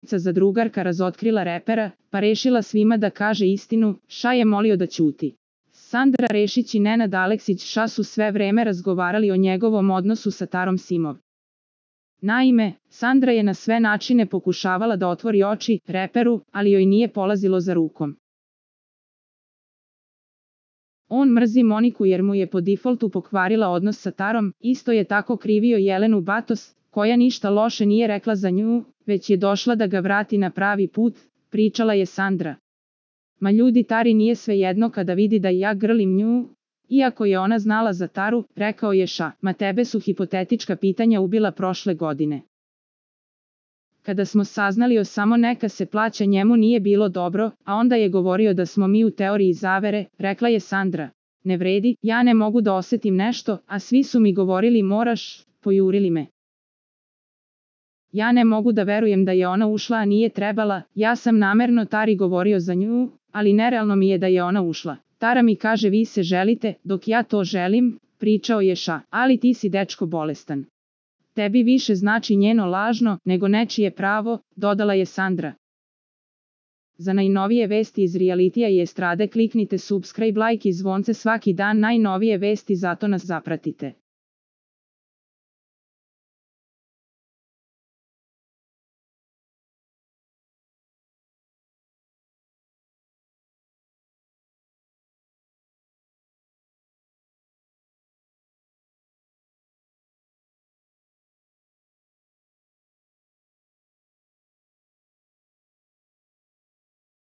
za drugarka razotkrila repera, pa rešila svima da kaže istinu, Ša je molio da ćuti. Sandra Rešić i Nenad Aleksić Ša su sve vreme razgovarali o njegovom odnosu sa Tarom Simov. Naime, Sandra je na sve načine pokušavala da otvori oči reperu, ali joj nije polazilo za rukom. On mrzi Moniku jer mu je po defaultu pokvarila odnos sa Tarom, isto je tako krivio Jelenu Batos, koja ništa loše nije rekla za nju, već je došla da ga vrati na pravi put, pričala je Sandra. Ma ljudi, Tari nije svejedno kada vidi da ja grlim nju. Iako je ona znala za Taru, rekao je Ša, ma tebe su hipotetička pitanja ubila prošle godine. Kada smo saznali o samo neka se plaća njemu nije bilo dobro, a onda je govorio da smo mi u teoriji zavere, rekla je Sandra. Ne vredi, ja ne mogu da osetim nešto, a svi su mi govorili moraš, pojurili me. Ja ne mogu da verujem da je ona ušla, a nije trebala, ja sam namerno Tari govorio za nju, ali nerealno mi je da je ona ušla. Tara mi kaže vi se želite, dok ja to želim, pričao je Ša, ali ti si dečko bolestan. Tebi više znači njeno lažno, nego nečije pravo, dodala je Sandra. Za najnovije vesti iz realitija i estrade kliknite subscribe, like i zvonce svaki dan, najnovije vesti, zato nas zapratite.